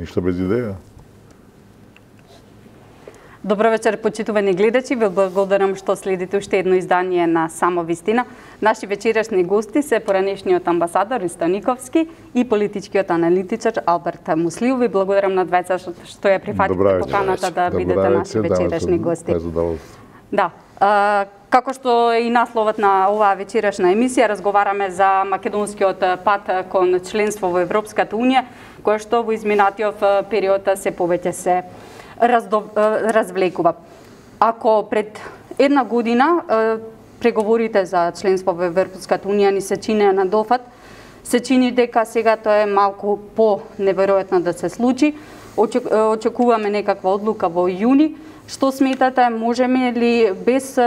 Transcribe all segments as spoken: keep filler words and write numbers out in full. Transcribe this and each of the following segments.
ништо без идеја. Добро вечер, почитувани гледачи. Ви благодарам што следите уште едно издание на Само вистина. Наши вечерашни гости се поранешниот амбасадор Ристо Никовски и политичкиот аналитичар Алберт Муслиев. Ви благодарам на двајца што ја прифатите поканата да бидете наши вечерашни гости. Да. Како што е и насловот на оваа вечерашна емисија, разговараме за македонскиот пат кон членство во Европската унија, кој што во изминатиот период се повеќе се Раздо, развлекува. Ако пред една година преговорите за членство во Европската унија ни се чинеа на дофат, се чини дека сега тоа е малку по-неверојатно да се случи. Очекуваме некаква одлука во јуни. Што сметате, можеме ли без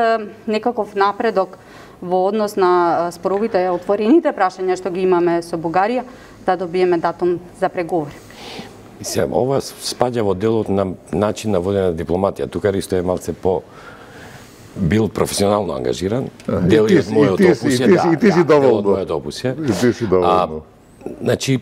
некаков напредок во однос на споровите, отворените прашања што ги имаме со Бугарија, да добиеме датум за преговори? Мислам, ова спаѓа во делот на начин на водење на дипломатија. Тука Ристо е малце по бил професионално ангажиран. Дел од мојот опус е, да, и ти си доволно. Дел од мојот опус е. И ти си доволно. Значи,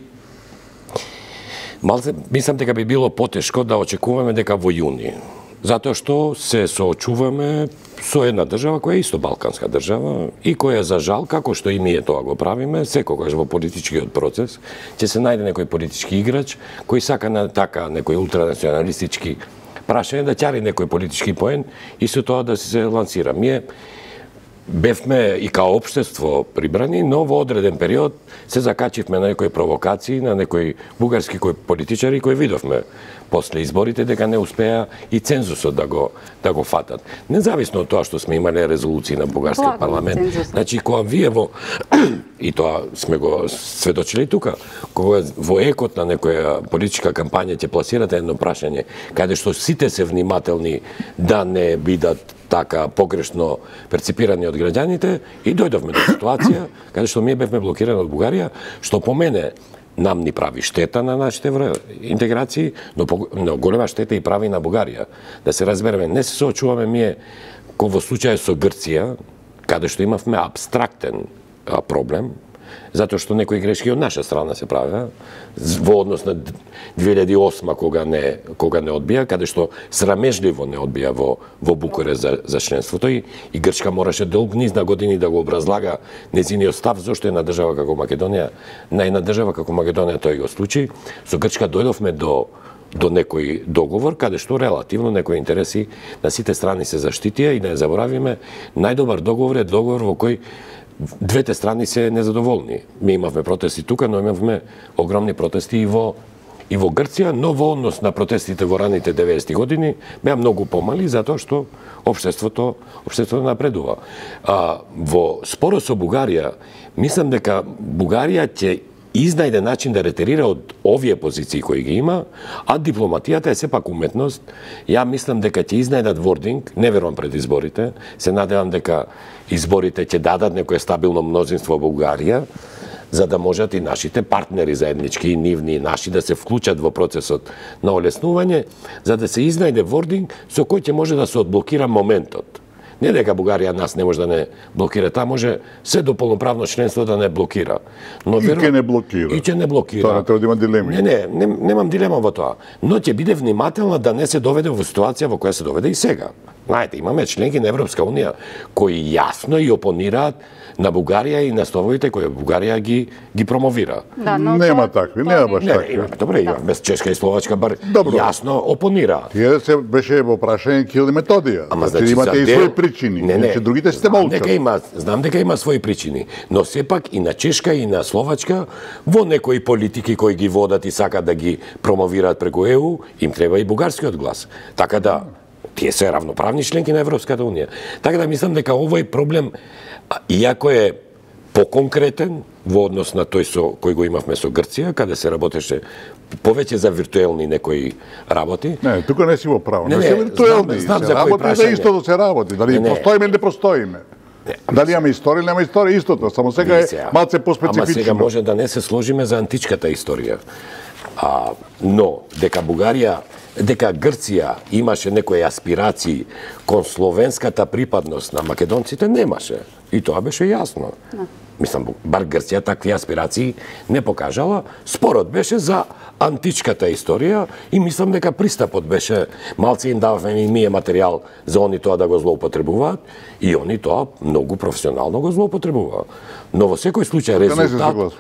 малце, мислам дека би било потешко да очекуваме дека во јуни. Затоа што се соочуваме со една држава која е исто балканска држава и која за жал, како што и ние тоа го правиме, секогаш во политичкиот процес ќе се најде некој политички играч кој сака на така некој ултранационалистички прашање да ќари некој политички поен и со тоа да се лансира. Ние бевме и као општество прибрани, но во одреден период се закачивме на некои провокации, на некои бугарски кои политичари кои видовме после изборите дека не успеа и цензусот да го да го фатат. Независно од тоа што сме имале резолуции на бугарскиот парламент. Значи кога вие во и тоа сме го сведочили тука, кога во екот на некоја политичка кампања ќе пласирате едно прашање каде што сите се внимателни да не бидат така погрешно перципирани од граѓаните и дојдовме до ситуација каде што ние бевме блокирани од Бугарија, што по мене нам ни прави штета на нашите интеграции, но, но голема штета и прави на Бугарија. Да се разбереме, не се соочуваме ние ко во случај со Грција, каде што имавме абстрактен а, проблем, затоа што некои грешки од наша страна се правеа во однос на две илјади и осма кога не кога не одбија, каде што срамежливо не одбија во во Букурест за за членството и, и Грчка мораше долг низ на години да го образлага нејзиниот став зошто една држава како Македонија, на една држава како Македонија тој го случи. Со Грчка дојдовме до до некој договор каде што релативно некои интереси на сите страни се заштитија и да не заборавиме, најдобар договор е договор во кој двете страни се незадоволни. Ми имавме протести тука, но имавме огромни протести и во и во Грција, но во однос на протестите во раните деветдесети години беа многу помали затоа што општеството општеството напредува. А во спорот со Бугарија, мислам дека Бугарија ќе изнајде начин да ретерира од овие позиции кои ги има, а дипломатијата е сепак уметност. Ја мислам дека ќе изнајдат вординг, не верувам пред изборите, се надевам дека изборите ќе дадат некое стабилно мнозинство во Бугарија, за да можат и нашите партнери заеднички, и нивни, и наши, да се вклучат во процесот на олеснување, за да се изнајде вординг со кој ќе може да се одблокира моментот. Не дека Бугарија нас не може да не блокира, таа може се до полноправно членство да не блокира. Но и ќе не блокира. И ќе не блокира. Тоа не треба да има дилеми. Не, не, не, немам дилема во тоа. Но ќе биде внимателна да не се доведе во ситуација во која се доведе и сега. Знаете, имаме членки на Европска унија кои јасно и опонираат на Бугарија и на ставовите кои Бугарија ги ги промовира. Да, но нема тоа, такви, нема баш не, такви. Има, добре, има, без Чешка и Словачка бар Добро. јасно опонираат. Тие се беше во прашање Кирил и Методија. Ама значи, значи имате и дел... своји причини. Не, не. Значи, другите сте знам молчат. дека има, знам дека има своји причини, но сепак и на Чешка и на Словачка во некои политики кои ги водат и сакат да ги промовираат преку Е У, им треба и бугарскиот глас. Така да тие се равноправни членки на Европската унија. Така да мислам дека овој проблем, иако е поконкретен во однос на тој со кој го имавме со Грција, каде се работеше повеќе за виртуелни некои работи. Не, тука не си во право. Не, Не, не, се виртуелни. знам- знам се за кои работи за прашање. исто да се работи. Дали Не, не. постоиме или не постоиме. Дали имаме историја или нема историја, истото. Само сега е Сега, малце Ама поспецифично. сега може да не се сложиме за античката историја. А, но, дека Бугарија, дека Грција имаше некои аспирации кон словенската припадност на македонците, немаше. И тоа беше јасно. Да. мислам, бар Грција такви аспирации не покажала. Спорот беше за античката историја и мислам дека пристапот беше, малце им дававме и ние материјал за они тоа да го злоупотребуваат и они тоа многу професионално го злоупотребуваат. Но во секој случај резултат...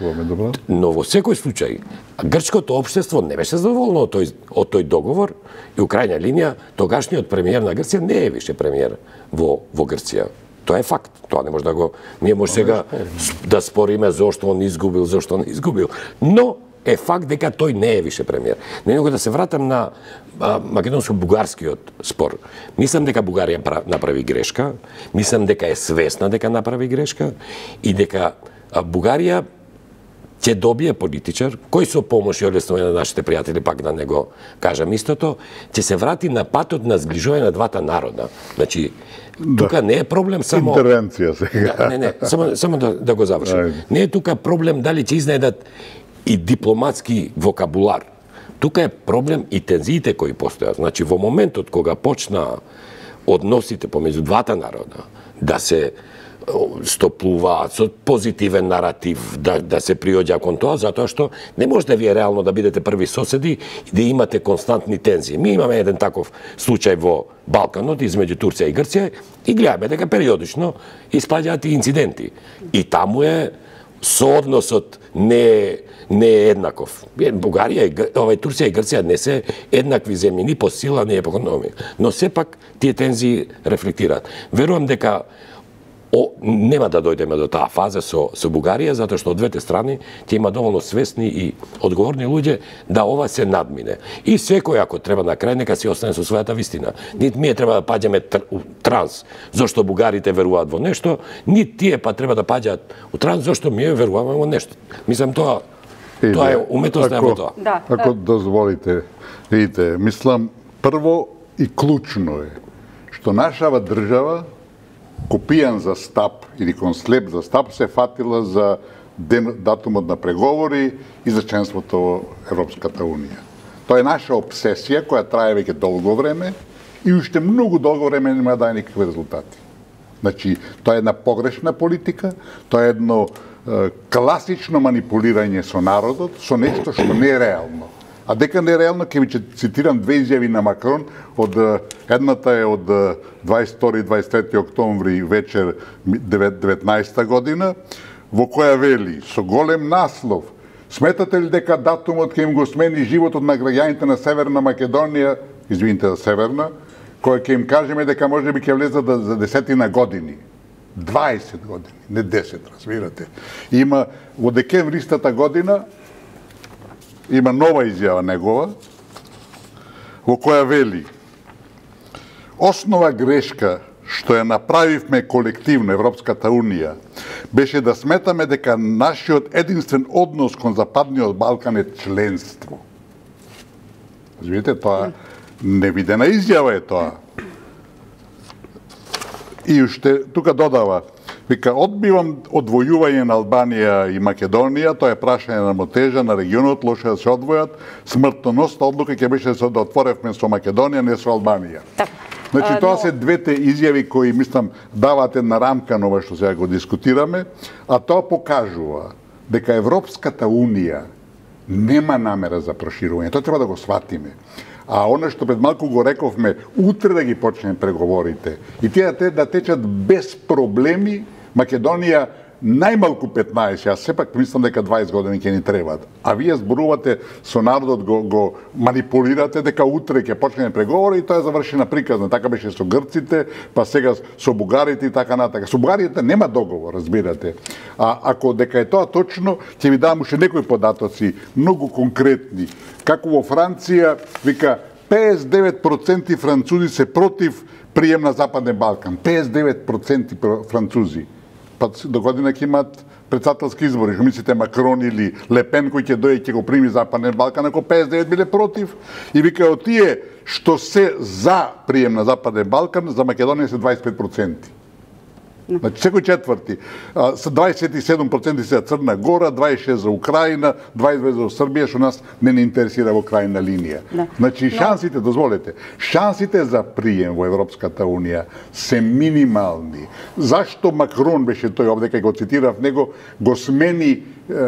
Но во секој случај грчкото општество не беше задоволно од тој, од тој договор и у крајна линија тогашниот премиер на Грција не е више премиер во, во Грција. Тоа е факт. Тоа не може да го... Ние може сега да спориме зошто он изгубил, зошто не изгубил. Но е факт дека тој не е више премиер. Не него да се вратам на македонско-бугарскиот спор. Мислам дека Бугарија направи грешка, мислам дека е свесна дека направи грешка и дека Бугарија ќе добие политичар, кој со помош и олеснување на нашите пријатели, пак да не го кажам истото, ќе се врати на патот на зближување на двата народа. Значи, тука не е проблем само... Интервенција сега. Да, не, не, само, само да, да го завршим. Не е тука проблем дали ќе изнајдат и дипломатски вокабулар. Тука е проблем и тензиите кои постојат. Значи, во моментот кога почна односите помеѓу двата народа да се стоплуваат со позитивен наратив, да, да се приоѓа кон тоа, затоа што не може да ви е реално да бидете први соседи и да имате константни тензии. Ми имаме еден таков случај во Балканот измеѓу Турција и Грција и гледаме дека периодично испаѓаат и инциденти. И таму е соодносот не не е еднаков. Бугарија и овај Турција и Грција не се еднакви земји ни по сила, ни по економија, но сепак тие тензии рефлектираат. Верувам дека О, нема да дојдеме до таа фаза со, со Бугарија, затоа што од двете страни ќе има доволно свесни и одговорни луѓе да ова се надмине. И секој, ако треба на крај, нека си остане со својата вистина. Нит ние треба да паѓаме у транс, зашто бугарите веруваат во нешто, нит тие па треба да паѓаат у транс, зашто ние веруваме во нешто. Мислам, тоа, тоа е уметноста во тоа. Да, ако дозволите, видите, мислам, прво и клучно е, што нашава држава копијан за стап или кон слеп за стап се фатила за ден, датумот на преговори и за членството во Европската Унија. Тоа е наша обсесија која трае веќе долго време и уште многу долго време нема да даде никакви резултати. Значи, тоа е една погрешна политика, тоа е едно е, класично манипулирање со народот, со нешто што не е реално. А дека не е реално, ќе ви цитирам две изјави на Макрон, од едната е од дваесет и втори и дваесет и трети октомври вечер деветнаесетта година, во која вели со голем наслов: сметате ли дека датумот ќе им го смени животот на граѓаните на Северна Македонија, извините за Северна, која ќе им кажеме дека можеби ќе влезат за десетина години. дваесет години, не десет, разбирате. Има во декември истата година има нова изјава негова, во која вели: основа грешка што ја направивме колективно Европската Унија беше да сметаме дека нашиот единствен однос кон Западниот Балкан е членство. Видите, тоа невидена изјава е тоа. И уште тука додава, вика, одбивам одвојување на Албанија и Македонија, тоа е прашање на мотежа на регионот, лоше да се одвојат, смртоносна одлука ќе беше да отворевме со Македонија, не со Албанија. Значи, тоа се двете изјави кои, мислам, дават една рамка на ова што сега го дискутираме, а тоа покажува дека Европската Унија нема намера за проширување. Тоа треба да го сватиме. А оно што пред малку го рековме, утре да ги почнеме преговорите и тие да течат без проблеми, Македонија најмалку петнаесет, јас сепак мислам дека дваесет години ќе ни требаат. А вие зборувате со народот, го, го манипулирате дека утре ќе почнеме преговори и тоа е завршена приказна. Така беше со грците, па сега со бугарите и така натака. Со бугарите нема договор, разбирате. А ако дека е тоа точно, ќе ви дам уште некои податоци, многу конкретни. Како во Франција, вика, педесет и девет проценти французи се против прием на Западен Балкан. педесет и девет проценти французи. Па до година ќе имат председателски избори. Што мислите, Макрон или Лепен кој ќе дојде ќе го прими Западен Балкан, ако педесет и девет биле против? И вика, од тие што се за прием на Западен Балкан, за Македонија се дваесет и пет проценти. Значи, секој четврти. Со дваесет и седум проценти се за Црна Гора, дваесет и шест за Украина, дваесет и две за Србија, што нас не не интересира во крајна линија. Да. Значи, шансите, дозволете, шансите за прием во Европската Унија се минимални. Зашто Макрон беше тој овде, кај го цитирав него, го смени е,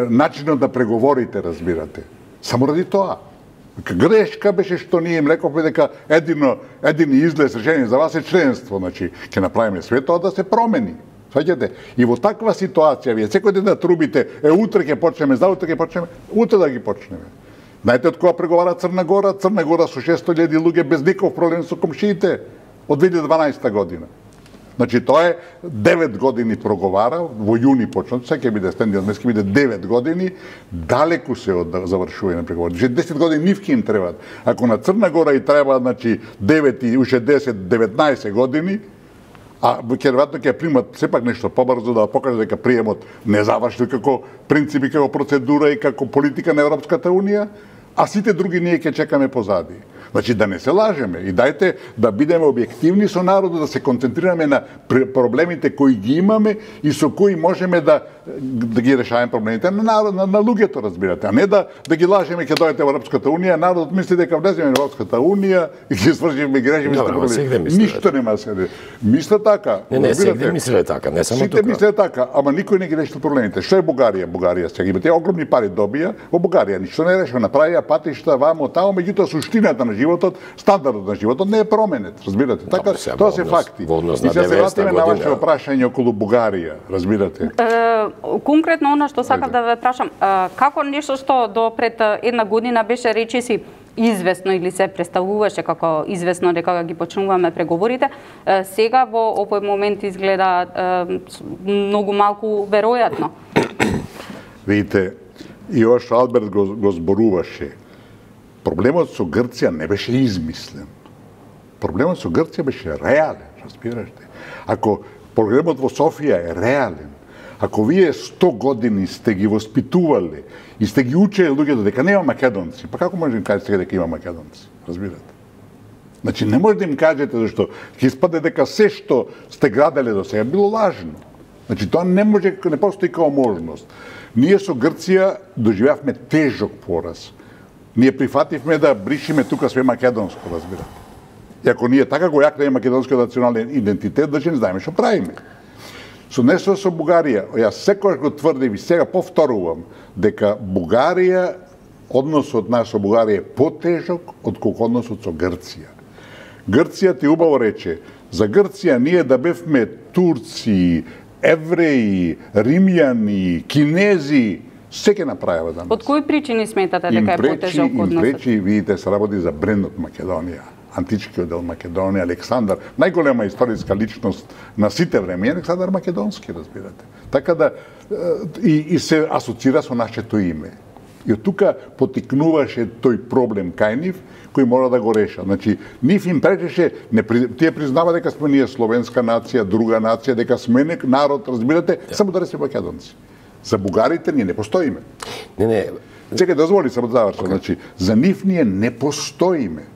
начинот да преговорите, разбирате. Само ради тоа. Грешка беше што ние им рековме дека едино, едини излез решение за вас е членство, значи ќе направиме све тоа да се промени. Сваќате? И во таква ситуација вие секој ден да трубите, е утре ќе почнеме, заутре ќе почнеме, утре да ги почнеме. Знаете од кога преговара Црна Гора? Црна Гора со шестоста илјади луѓе без никаков проблем со комшиите од две илјади и дванаесета година. Значи тоа е девет години проговара, во јуни почна, сега ќе биде стендиот месец, ќе биде девет години, далеку се од завршување на преговори. Значи десет години нивки им требаат. Ако на Црна Гора и треба, значи девет и уште десет, деветнаесет години, а ќе веројатно ќе примат сепак нешто побрзо да покаже дека приемот не завршил како принципи, како процедура и како политика на Европската Унија, а сите други ние ќе чекаме позади. Значи да не се лажеме и дајте да бидеме објективни со народот, да се концентрираме на проблемите кои ги имаме и со кои можеме да да ги решаваме проблемите на народ, на, на луѓето, разбирате, а не да да ги лажеме ќе дојдете во Европската Унија, народот мисли дека влеземе во Европската Унија и ќе свршиме ги решиме проблеми. Ништо нема се. Мисле така. Не, не, сегде мисле така, не само тука. Сите мисле така, ама никој не ги решил проблемите. Што е Бугарија? Бугарија сега има тие огромни пари добија, во Бугарија ништо не решава, направија патишта вамо тамо, меѓутоа суштината на животот, стандардот на животот не е променет, разбирате? Така, тоа се факти. И се се вратиме на ваше прашање околу Бугарија, разбирате? Конкретно она што сакав да ве прашам, како нешто што до пред една година беше речиси известно или се представуваше како известно дека ги почнуваме преговорите, сега во овој момент изгледа многу малку веројатно. Видите, и ова што Алберт го, го зборуваше, проблемот со Грција не беше измислен. Проблемот со Грција беше реален, разбирате. Ако проблемот во Софија е реален, ако вие сто години сте ги воспитувале и сте ги учеле луѓето дека нема македонци, па како може да им кажете сега дека има македонци? Разбирате? Значи не може да им кажете зашто ќе испаде дека се што сте граделе до сега било лажно. Значи тоа не може, не постои како можност. Ние со Грција доживеавме тежок пораз. Ние прифативме да бришиме тука све македонско, разбирате. И ако ние така го јакнеме македонскиот национален идентитет, значи не знаеме што правиме. Со нешто со Бугарија, јас секогаш го тврдим и сега повторувам дека Бугарија, односот наш со Бугарија е потежок отколку односот со Грција. Грција ти убаво рече, за Грција ние да бевме турци, евреи, римјани, кинези, се ќе направиме за нас. Од кои причини сметате дека е потежок односот? Им пречи, видите, се работи за брендот Македонија. Античкиот дел Македонија, Александар, најголема историска личност на сите време, Александар Македонски, разбирате. Така да, и, и се асоцира со нашето име. И од тука потикнуваше тој проблем кај нив, кој мора да го реша. Значи, нив им пречеше, не, тие признава дека сме ние словенска нација, друга нација, дека сме нек народ, разбирате, да. Само да не се македонци. За бугарите ние не постоиме. Не, не. Чекај, дозволи само да завршам. Значи, за нив ние не постоиме.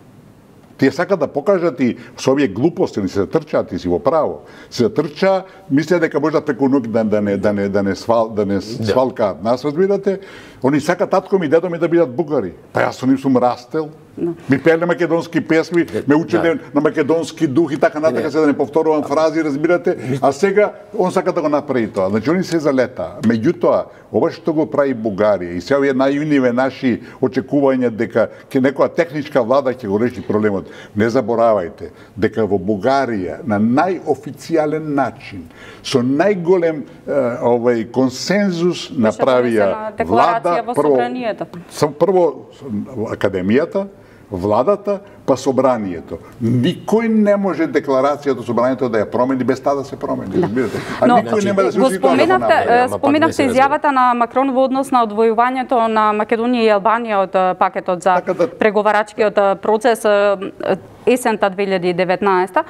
Тие сакат да покажат и со овие глупости, не се затрчаат и си во право. Се затрча, мислеа дека може да преку ноќ да, да не да не да не свал да не свалкаат нас, разбирате? Они сакат татко ми, дедо ми да бидат бугари. Па јас со нив сум растел. No. Ми пееле македонски песми, ме учеле да. На македонски дух и така натака, се да не повторувам фрази, разбирате, а сега он сака да го направи тоа. Значи они се залета. Меѓутоа, ова што го прави Бугарија и се овие најуниве наши очекувања дека ќе некоја техничка влада ќе го реши проблемот. Не заборавајте дека во Бугарија на најофицијален начин, со најголем овај консензус направија влада прво, прво академијата, владата, па собранието. Никој не може декларацијата собранието да ја промени без таа да се промени, разбирате. А но, никој нема да се го споменавте, споменавте изјавата на Макрон во однос на одвојувањето на Македонија и Албанија од пакетот за така да... преговарачкиот процес есента две илјади и деветнаесета.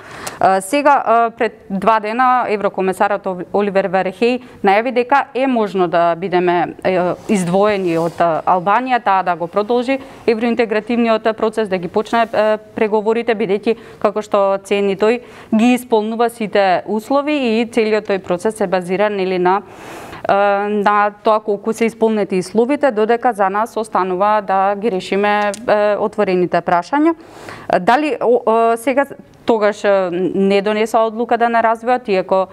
Сега, пред два дена, еврокомесарот Оливер Вархеј најави дека е можно да бидеме издвоени од Албанија, таа да го продолжи евроинтегративниот процес, да ги почне преговорите, бидејќи како што цени тој ги исполнува сите услови и целиот тој процес е базиран или на на тоа колку се исполнети условите, додека за нас останува да ги решиме отворените прашања. Дали сега тогаш не донеса одлука да не развиват, иако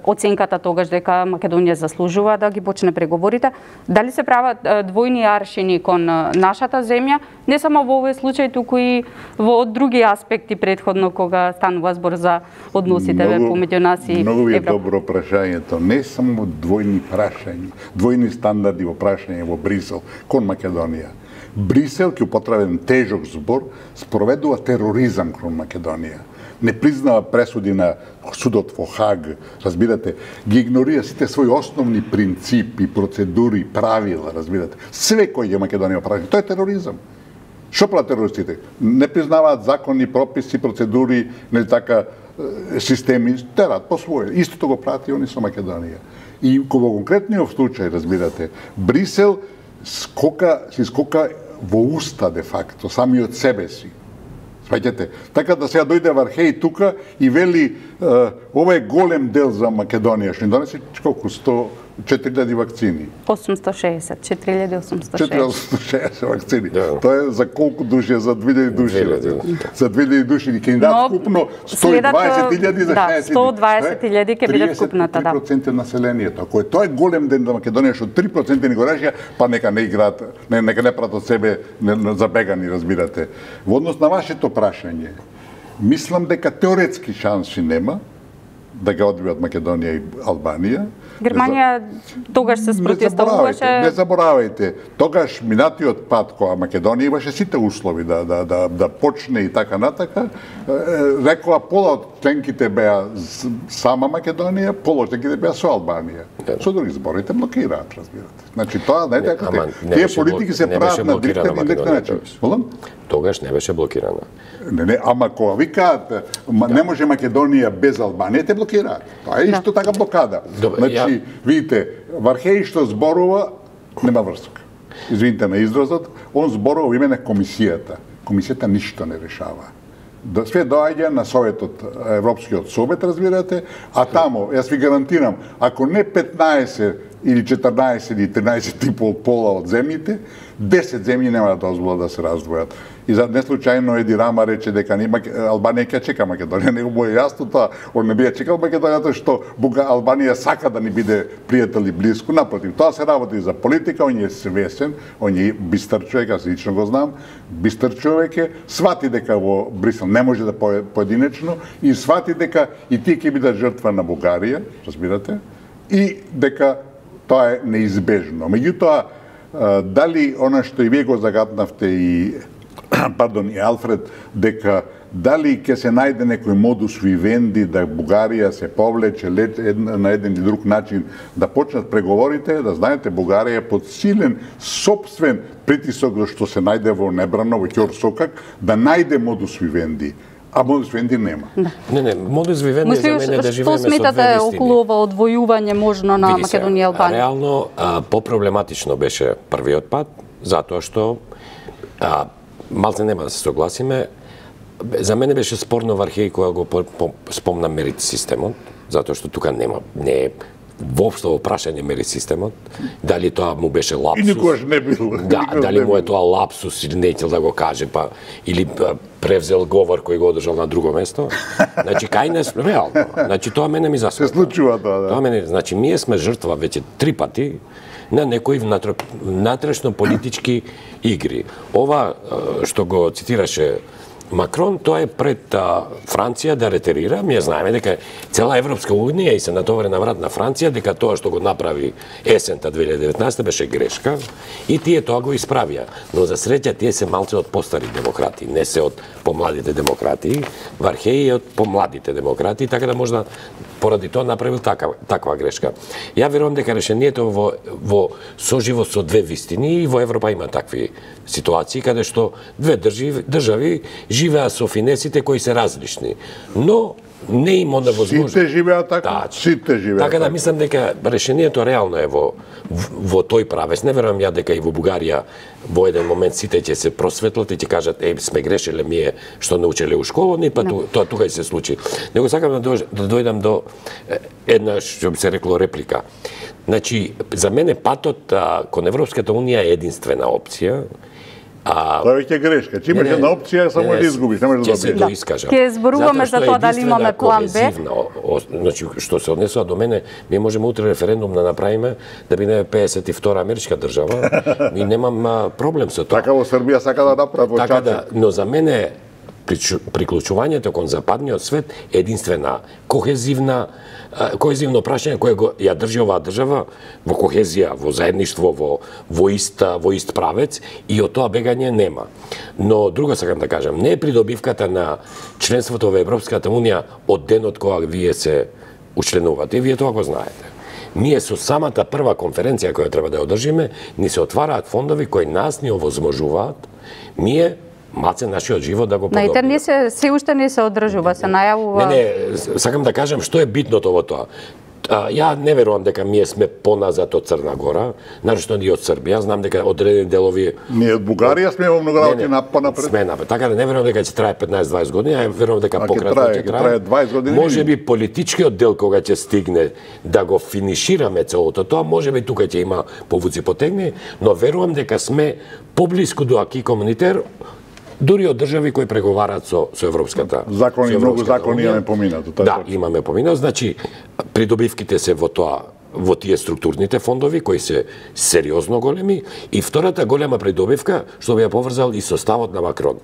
оценката тогаш дека Македонија заслужува да ги почне преговорите, дали се прават двојни аршини кон нашата земја, не само во овој случај, туку и во други аспекти претходно кога станува збор за односите помеѓу нас и Европа? Многу е добро прашањето. Не само двојни прашања, двојни стандарди во прашање во Брисел кон Македонија. Брисел, ке употребен тежок збор, спроведува тероризам кон Македонија. Не признава пресуди на судот во Хаг, разбирате, ги игнорира сите своји основни принципи, процедури, правила, разбирате. Све кој е Македонија прави, тоа е тероризам. Што прават терористите? Не признаваат закони, прописи, процедури, не така системи, терат по своје. Истото го прават и они со Македонија. И во конкретниот случај, разбирате, Брисел скока, си скока во уста де факто, самиот себе си. Сваќате? Така да сега дојде Вархеј тука и вели ова е голем дел за Македонија, што ни донесе колку сто четири илјади вакцини. осумстотини и шеесет, четири илјади осумстотини и шеесет. четири илјади осумстотини и шеесет вакцини. Да. Тоа е за колку души? За две илјади души. За две илјади души и ќе ни дадат вкупно сто и дваесет илјади за да, шеесет. сто и дваесет илјади ќе биде вкупната, да. триесет и три проценти од населението. Ако е тоа е голем ден за Македонија, што три проценти ни го решија, па нека не играат, не, нека не прават од себе забегани, разбирате. Во однос на вашето прашање, мислам дека теоретски шанси нема да ги одбијат Македонија и Албанија. Германија тогаш се спротивставуваше. Не заборавајте, тогаш минатиот пат кога Македонија имаше сите услови да да да да почне и така натака, рекоа пола од членките беа сама Македонија, пола од членките беа со Албанија. Со други зборите блокираат, разбирате. Значи тоа не е така. Тие политики се прават на диктен и диктен начин. Тогаш не беше блокирана. Не, не, ама кога викаат не може Македонија без Албанија, те блокираат. Тоа е исто така блокада. Значи, видите, Вархеј што зборува, нема врска. Извините на изразот, он зборува во име на комисијата. Комисијата ништо не решава. Све доаѓа на Советот, Европскиот совет, разбирате, а тамо, јас ви гарантирам, ако не петнаесет или четрнаесет или тринаесет и пол пола од земјите, десет земји нема да дозволат да се раздвојат. И за неслучајно Еди Рама рече дека нема Албанија ќе чека Македонија, него му е јасно тоа, он не би ја чекал Македонија тоа што Албанија сака да ни биде пријател и блиску, напротив, тоа се работи за политика, он е свесен, он е бистар човек, јас лично го знам, бистар човек е, свати дека во Брисел не може да поединечно и свати дека и тие ќе бидат жртва на Бугарија, разбирате, и дека тоа е неизбежно. Меѓутоа, дали она што и вие го загатнавте и пардон, и Алфред, дека дали ќе се најде некој модус вивенди да Бугарија се повлече на еден или друг начин да почнат преговорите, да знаете, Бугарија е под силен сопствен притисок што се најде во Небрано, во Ќорсокак, да најде модус вивенди. А модус вивенди нема. Да. Не, не, модус вивенди за мене да живееме со две вистини. Што сметате околу ова одвојување можно на Македонија и Албанија? Реално, по-проблематично беше првиот пат, затоа што а, малце нема да се согласиме. За мене беше спорно Вархеј кога го спомна мерит системот, затоа што тука нема, не е воопшто во прашање мерит системот, дали тоа му беше лапсус. И никогаш не било. Да, дали му е тоа лапсус или не ќе да го каже, па или превзел говор кој го одржал на друго место. Значи кај не реално. Значи тоа мене ми засмета. Се случува тоа, да. Тоа мене, значи ние сме жртва веќе три пати на некои внатрешно политички игри. Ова што го цитираше Макрон, тоа е пред а, Франција да ретерира. Ние знаеме дека цела Европска унија и се натовари на врат на Франција дека тоа што го направи есента две илјади и деветнаесета беше грешка и тие тоа го исправија. Но за среќа тие се малце од постари демократи, не се од помладите демократи. Вархеј е од помладите демократи, така да можда поради тоа направил такава, таква грешка. Ја верувам дека решението во, во соживот со две вистини и во Европа има такви ситуации каде што две држави, држави живеа со финесите кои се различни. Но не има да возможност. Сите живеат така, да, сите живеат така. Така да мислам дека решението реално е во, во тој правец. Не верувам ја дека и во Бугарија во еден момент сите ќе се просветлат и ќе кажат, еј, сме грешеле ние што научеле у школа, не па no. тоа тука и се случи. Него сакам да, дож, да дојдам до една, што би се рекло, реплика. Значи, за мене патот а, кон Европската унија е единствена опција. А... Тоа веќе грешка. Че имаш една опција, само да изгубиш, не можеш да добиеш. Ќе се доискажам. Ќе зборуваме за тоа дали имаме план Б. Значи, што се однесува до мене, ние можеме утре референдум да направиме да бидеме педесет и втора америчка држава и немам а, проблем со тоа. Така во Србија сака да направи во така да, но за мене приклучувањето кон западниот свет е единствена кохезивна коезивно прашање кое го ја држи оваа држава во кохезија, во заедништво, во во иста, во ист правец и од тоа бегање нема. Но друго сакам да кажам, не е придобивката на членството во Европската унија од денот кога вие се учленувате, вие тоа го знаете. Ние со самата прва конференција која треба да ја одржиме, ни се отвараат фондови кои нас ни овозможуваат, ние маце нашиот живот да го подобриме. На интернет се се уште не се одржува, се најавува. Не, не, сакам да кажам што е битното во тоа. А, ја не верувам дека ние сме поназад од Црна Гора, нашто ние од Србија, знам дека одредени делови ние од Бугарија сме во многу работи напред. Сме напред. Така да не верувам дека ќе трае петнаесет-дваесет години, а верувам дека пократко ќе трае дваесет години. Можеби политичкиот дел кога ќе стигне да го финишираме целото тоа, можеби тука ќе има повуци потегни, но верувам дека сме поблиску до аки комунитер дури од држави кои преговараат со со Европската. Закони, многу закони имаме поминато. Да, имаме поминато, значи придобивките се во тоа, во тие структурните фондови кои се сериозно големи и втората голема придобивка што би ја поврзал и со ставот на Макрон.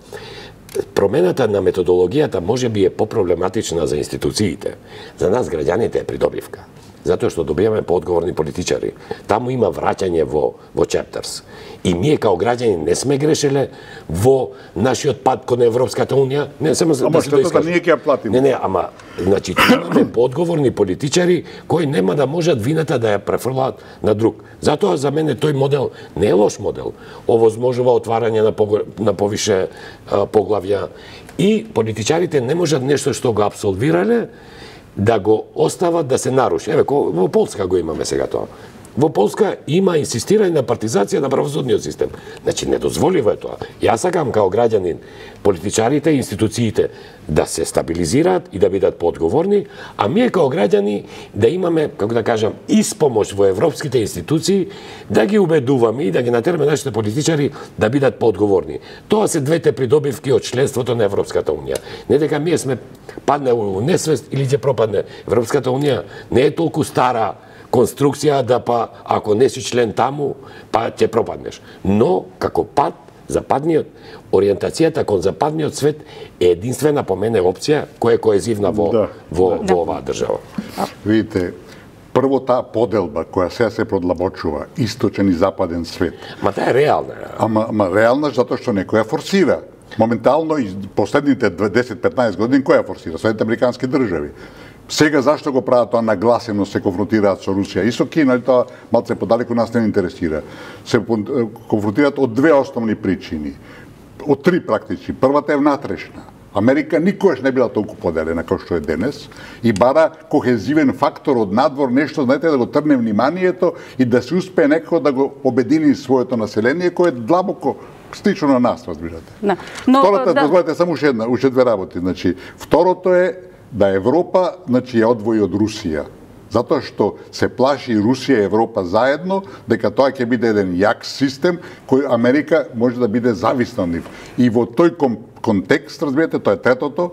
Промената на методологијата можеби е попроблематична за институциите. За нас граѓаните е придобивка. Затоа што добиваме поодговорни политичари. Таму има враќање во во chapters. И ние као граѓани не сме грешеле во нашиот пат кон Европската унија, не само за да се доискажа. Ние ќе ја платиме. Не, не, ама значи имаме поодговорни политичари кои нема да можат вината да ја префрлаат на друг. Затоа за мене тој модел не е лош модел. Овозможува отварање на по, на повише а, поглавја и политичарите не можат нешто што го апсолвирале да го остават да се наруши. Еве, во Полска го имаме сега тоа. Во Полска има инсистирање на партизација на правосудниот систем. Значи, недозволиво е тоа. Јас сакам као граѓанин, политичарите и институциите да се стабилизираат и да бидат поодговорни, а ние као граѓани да имаме, како да кажам, испомош во европските институции, да ги убедуваме и да ги натераме нашите политичари да бидат поодговорни. Тоа се двете придобивки од членството на Европската унија. Не дека ние сме падне у несвест или ќе пропадне. Европската унија не е толку стара конструкција да па ако не си член таму, па ќе пропаднеш. Но како пат западниот ориентацијата кон западниот свет е единствена по мене опција која е коезивна во да. во, да. во оваа држава. Видите, прво таа поделба која сега се продлабочува, источен и западен свет. Ма таа е реална. Ама, ама реална затоа што некој ја форсира. Моментално и последните десет-петнаесет години која форсира? Соединените американски држави. Сега зашто го прават тоа нагласено, се конфронтираат со Русија и со Кина, тоа малце подалеку нас не интересира. Се конфронтираат од две основни причини. Од три практични. Првата е внатрешна. Америка никогаш не била толку поделена како што е денес и бара кохезивен фактор од надвор, нешто, знаете, да го трне вниманието и да се успее некако да го обедини своето население кое е длабоко слично на нас, разбирате. Да. Но, Втората, да. дозволете само уште една, уште две работи. Значи, второто е да Европа, значи, ја одвои од Русија. Затоа што се плаши Русија и Европа заедно, дека тоа ќе биде еден јак систем кој Америка може да биде зависна од нив. И во тој контекст, разбирате, тоа е третото,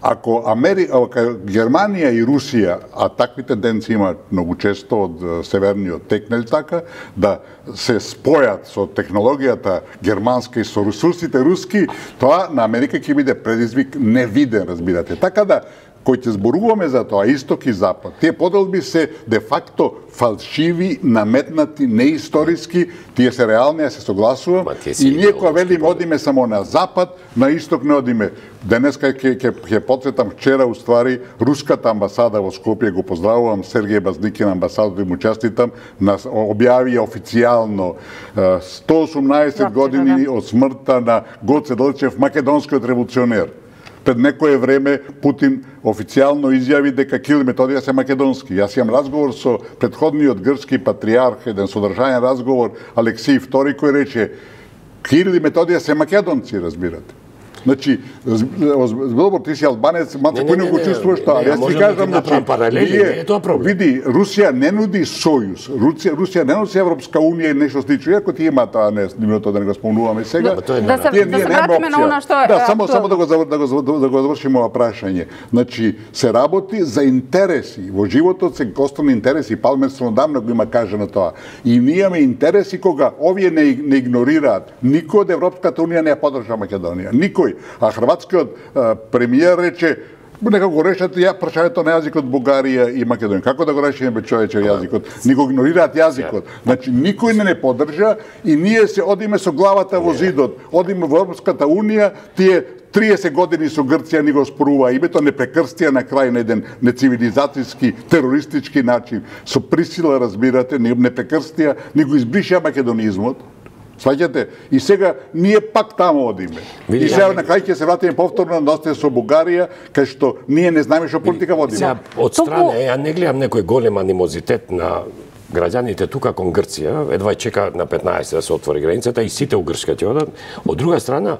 ако Америка, Германија и Русија, а такви тенденции има многу често од северниот тек, нели така, да се спојат со технологијата германска и со ресурсите руски, тоа на Америка ќе биде предизвик невиден, разбирате. Така да, кои ќе зборуваме за тоа, исток и запад, тие поделби се де-факто фалшиви, наметнати, неисториски, тие се реални, ја се согласувам, и ние кога велиме одиме само на запад, на исток не одиме. Денеска ќе ќе ќе потсетам вчера уствари руската амбасада во Скопје, го поздравувам Сергеј Базникин, амбасадор, и му честитам, нас објави официјално сто осумнаесет години од смртта на Гоце Делчев, македонскиот револуционер. Пред некое време Путин официјално изјави дека Кирил и Методија се македонски. Јас имам разговор со претходниот грчки патриарх, еден содржаен разговор, Алексиј втори, кој рече: Кирил и Методија се македонци, разбирате. Значи, збор, ти си албанец, малце поино го чувствуваш тоа. Јас ти кажам, значи, види, Русија не нуди сојуз, Русија, Русија не носи Европска унија и нешто слично, иако ти има тоа, не, нивното да не го спомнуваме сега. Да се вратиме на она што е. Да, само само да го да го да го завршиме ова прашање. Значи, се работи за интереси. Во животот се основни интереси, Палмер одамна го има кажано тоа. И ние имаме интереси кога овие не, не игнорираат. Никој од Европската унија не ја поддржа Македонија. Никој. А хрватскиот премиер рече некако го решат ја прашањето на јазикот Бугарија и Македонија. Како да го решиме бе човече јазикот? Ни го игнорираат јазикот. Значи никој не не поддржа и ние се одиме со главата во зидот. Одиме во Европската унија, тие триесет години со Грција ни го спорува името, не прекрстија на крај на еден нецивилизацијски, терористички начин. Со присила, разбирате, не прекрстија, ни го избриша македонизмот. Сваќате? И сега ние пак таму одиме. И сега на крај ќе се вратиме повторно на остане со Бугарија, кај што ние не знаеме што политика водиме. Сега, од страна, ја не гледам некој голем анимозитет на граѓаните тука кон Грција, едва чека на петнаесет да се отвори границата и сите у Грчка ќе одат. Од друга страна,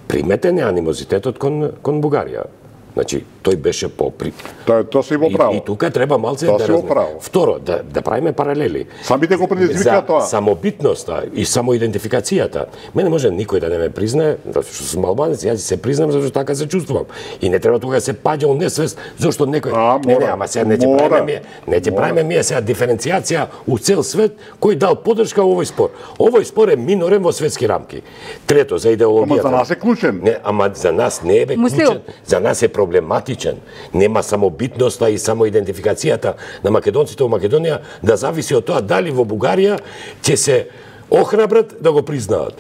приметен е анимозитетот кон, кон Бугарија. Значи, тој беше попри. Тоа тоа си во право. И, и тука треба малце тоа да разне. Второ, да да правиме паралели. Самите го предизвика тоа. Самобитноста и самоидентификацијата. Мене може никој да не ме признае, затоа што сум албанец, јас се признам затоа што така се чувствувам. И не треба тука да се паѓа у несвест зошто некој а, не не, ама сега не ќе правиме ми, не ќе правиме ми сега диференцијација у цел свет кој дал поддршка овој спор. Овој спор е минорен во светски рамки. Трето, за идеологијата. Ама за нас е клучен. Не, ама за нас не е бе клучен. За нас е проблематичен. Нема самобитноста и самоидентификацијата на македонците во Македонија да зависи од тоа дали во Бугарија ќе се охрабрат да го признаат.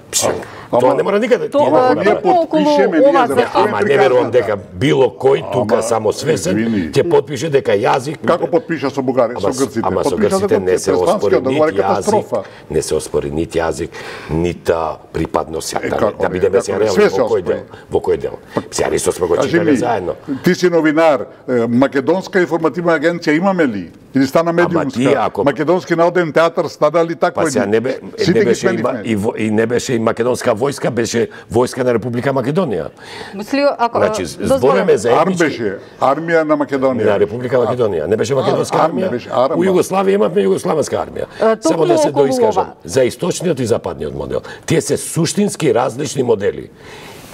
Тоа не мора никаде. Тоа ние потпишеме ние за Ама не верувам дека било кој тука само свесен ќе потпише дека јазик. Како потпиша со Бугарија, со грците? Ама со грците не се оспори нити јазик, не се оспори нити јазик, нити припадност. Да бидеме се реални во кој дел, во кој дел. Сега исто сме го читале заедно. Ти си новинар, македонска информативна агенција имаме ли? Или стана медиумска? Македонски народен театар стана ли таква? Па сега не бе, не беше и, и не беше и македонска војска, беше војска на Република Македонија. Мислио, ако значи, збореме за Арм беше армија на Македонија. На Република Македонија. Не беше македонска армија. У Југославија имавме југославенска армија. Само да се доискажам. За источниот и западниот модел. Тие се суштински различни модели.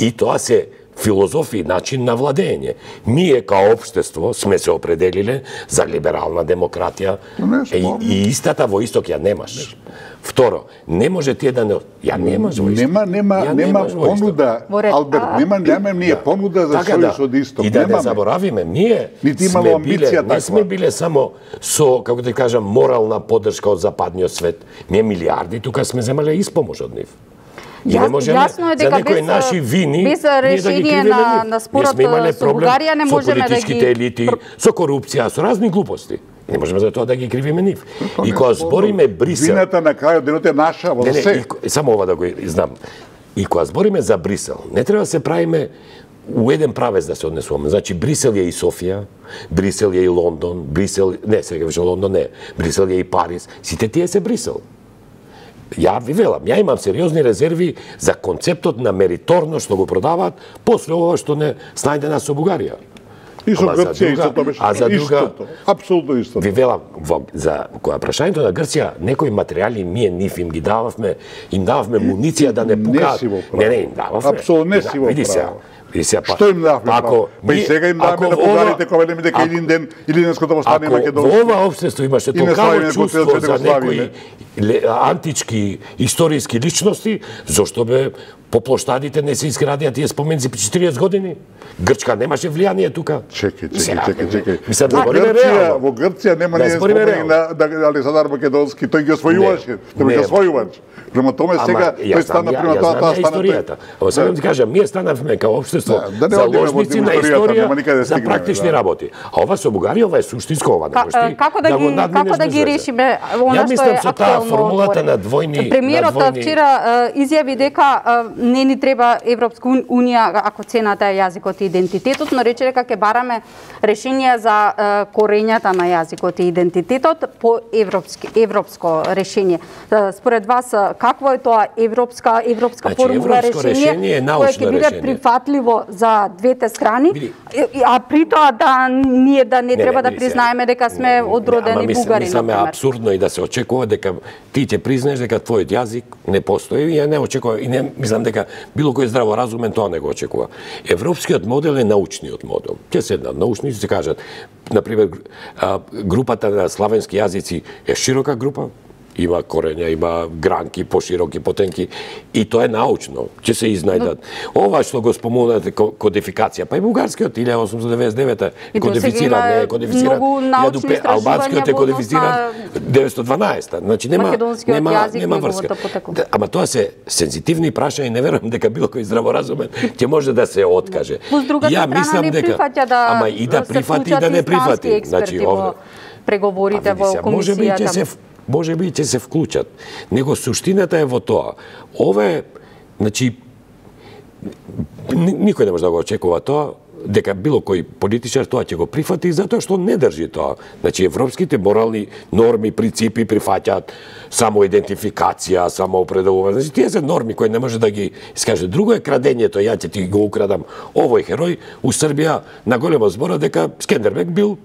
И тоа се филозофија, начин на владење. Ние као општество сме се определиле за либерална демократија и, и истата во исток ја немаш. Второ, не може тие да не... Ја немаш во исток. Нема, нема, нема понуда, Алберт, нема, нема ние понуда за сојуз од исток. И да не заборавиме, ние сме биле, не сме биле само со, како да кажам, морална поддршка од западниот свет. Ние милиарди тука сме земале испомош од нив. И не можеме Јасно е за некои наши вини без решение да на, на спорот со Бугарија не можеме да ги... Со политичките елити, со корупција, со разни глупости. Не можеме за тоа да ги кривиме нив. И кога збориме Брисел... Вината на крајот денот е наша, во се. И, само ова да го знам. И кога збориме за Брисел, не треба да се правиме у еден правец да се однесуваме. Значи, Брисел е и Софија, Брисел е и Лондон, Брисел... Не, сега веќе Лондон не. Брисел е и Париз. Сите тие се Брисел. Ја ви велам, ја имам сериозни резерви за концептот на мериторно што го продаваат после ова што не снајде нас со Бугарија. И со Грција истото беше. А за друга, апсолутно истото. Ви велам, во, за која прашањето на Грција, некои материјали ние нив им ги дававме, им дававме муниција да не пукаат. Не, не, им дававме. Апсолутно не си во право. Па, што им давме право? Па и сега им давме на бугарите кога велиме дека еден ден или денеското востание македонско. Ако во ова општество имаше толкаво чувство за некои антички историски личности, зошто бе по плоштадите не се изградија тие споменици по четириесет години? Грчка немаше влијание тука. Чекај, чекај, чекај, чекај. Мислам, во Грција, во Грција нема не спомени на Александар Македонски, тој ги освојуваше, тој ги освојувач. Према томе сега тој стана према тоа, тоа стана историјата. Ова сега ти кажам, ние станавме као општество заложници на историја за практични работи. А ова со Бугарија, ова е суштинско, ова не можеш ти да го надминеш. Како да ги решиме она што е актуелно формулата на двојни Премиерот на двојни... вчера изјави дека не ни треба Европска унија ако цената е јазикот и идентитетот, но рече дека ќе бараме решение за корењата на јазикот и идентитетот по европски европско решение. Според вас какво е тоа европска европска значи, формула решение, решение кое ќе биде решение. Прифатливо за двете страни, Види. а при тоа да ние да не, Не, треба не, да види признаеме дека сме одродени мислам, бугари. Мислам е апсурдно и да се очекува дека ти ќе признаеш дека твојот јазик не постои и ја не очекува и не мислам дека било кој здраворазумен тоа не го очекува. Европскиот модел е научниот модел. Ќе седнат научници се кажат, на пример, групата на славенски јазици е широка група, има корења, има гранки, пошироки, потенки, и тоа е научно, ќе се изнајдат. Ова што го спомнате кодификација, па и бугарскиот илјада осумстотини деветдесет и девета кодифициран, не е кодифициран, албанскиот е кодифициран деветстотини и дванаесета. Значи нема нема нема врска. Ама тоа се сензитивни прашања и не верувам дека било кој здраворазумен ќе може да се откаже. Ја мислам дека ама и да прифати и да не прифати. Значи овде преговорите во комисијата. Може би ќе се вклучат. Него суштината е во тоа. Ова е, значи, никој не може да го очекува тоа, дека било кој политичар тоа ќе го прифати, затоа што не држи тоа. Значи, европските морални норми, принципи прифаќаат само идентификација, само определување. Значи, тие се норми кои не може да ги искаже. Друго е крадењето, ја ќе ти го украдам овој херој у Србија на голема збора дека Скендербек бил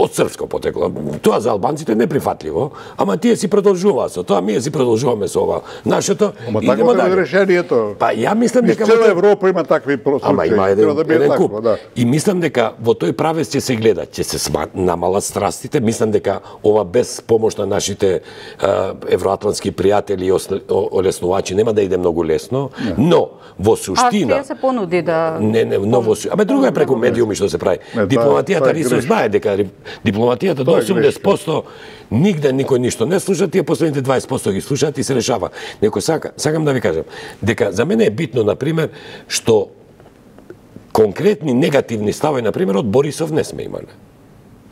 од српско потекло. Тоа за албанците не прифатливо, ама тие си продолжуваат со тоа, ние си продолжуваме со ова нашето. Ама такво е решението. Па ја мислам дека во цела Европа има такви случаи. Ама има еден, да еден куп. такво, да. И мислам дека во тој правец ќе се гледа, ќе се намалат страстите. Мислам дека ова без помош на нашите uh, евроатлантски пријатели и олеснувачи нема да иде многу лесно, не. Но во суштина. А се понуди да Не, не, но во Абе друго е преку медиуми што се прави. Не, дипломатијата Рисо знае дека дипломатијата до осумдесет проценти нигде никој ништо не слуша, тие последните дваесет проценти ги слушаат и се решава. Некој сака, сакам да ви кажам, дека за мене е битно, например, што конкретни негативни ставови, например, од Борисов не сме имале.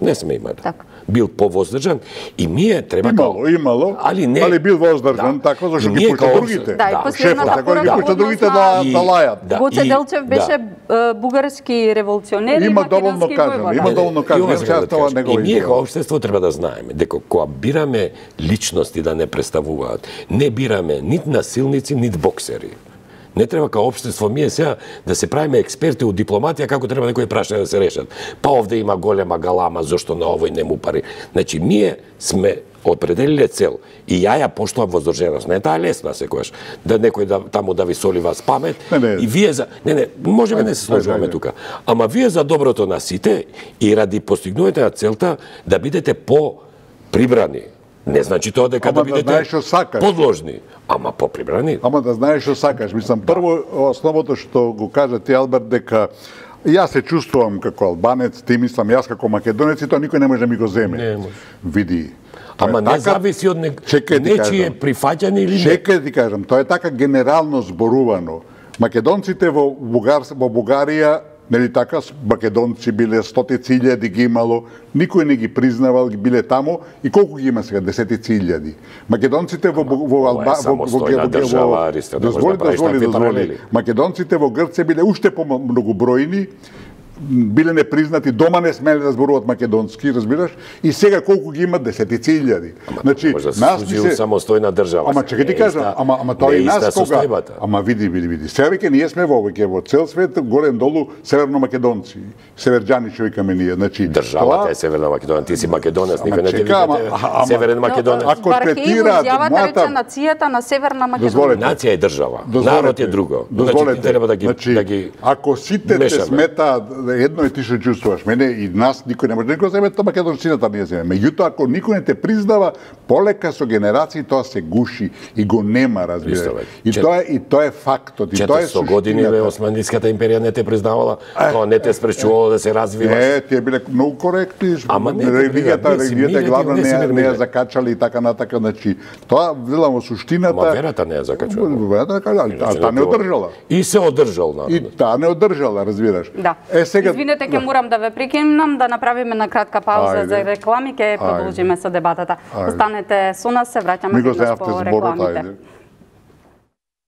Не сме имали. Так. Бил повоздржан и ние треба имало, као... имало, али не али бил воздржан, да. Тако зашто ги пушта другите. Да, и последната порака ги пушта другите да да лајат. Да. Гоце Делчев беше да. бугарски револуционер и македонски војвода. Има доволно кажано, има доволно И ние како општество треба да знаеме дека кога бираме личности да не представуваат, не бираме нит насилници, нит боксери. Не треба као општество ние сега да се правиме експерти у дипломатија како треба некои прашања да се решат. Па овде има голема галама, зошто на овој не му пари. Значи ние сме определиле цел и ја ја поштувам воздржаност. Не е таа лесна секогаш да некој да таму да ви соли вас памет не, не. И вие за не не можеме не се сложуваме тука. Ама вие за доброто на сите и ради постигнување на целта да бидете по прибрани. Не значи тоа дека ама да бидете да знаеш подложни, ама поприбрани. Ама да знаеш што сакаш. Мислам, прво, основото што го кажа ти, Алберт, дека јас се чувствувам како албанец, ти мислам, јас како македонец, и тоа никој не може да ми го земе. Не може. Види. Ама не зависи од не... нечие прифаќање или не. Чекај ти кажам, тоа е така генерално зборувано. Македонците во, Бугар, во Бугарија, нели така, македонци биле стотици илјади ги имало, никој не ги признавал, биле таму, и колку ги има сега, десетици илјади. Македонците во во Алба во држава, дозволи, дозволи, дозволи. Македонците во Грција биле уште помногобројни, биле непризнати, дома не смеле да зборуваат македонски, разбираш? И сега колку ги има, десетици илјади. Значи, може да нас се се самостојна држава. Ама чекај ти кажам, ама ама тоа и нас кога. Ама види, види, види. Сега веќе ние сме во веќе во цел свет горен долу северно македонци. Северџани што викаме ние. Значи, државата е Северна Македонија, ти си македонец, никој не те вика Северен Македонец. Ако третираат мојата нацијата на Северна Македонија. Нација е држава. Народ е друго. Дозволете, треба да ги да ги ако сите те сметаат едно е ти што чувствуваш, мене и нас никој не може да го земе, тоа македонцината не земе. Меѓутоа, ако никој не те признава, полека со генерации тоа се гуши и го нема, разбираш. И тоа е и тоа е фактот, и тоа е четиристотини години бе Османската империја не те признавала, тоа не те спречувало да се развиваш. Не, тие биле многу коректни. Ама не, религијата, религијата главно не не ја закачали и така натака, значи тоа велам во суштината. Ама верата не ја закачала. Верата, а таа не одржала. И се одржал, И таа не одржала, разбираш. Да. Е Сега- Извинете, ќе да. морам да ве прекинам, да направиме на кратка пауза Ајде. за реклами, ќе Ајде. продолжиме со дебатата. Ајде. Останете со нас, се враќаме Ми го веднаш земавте по зборот, рекламите. ајде.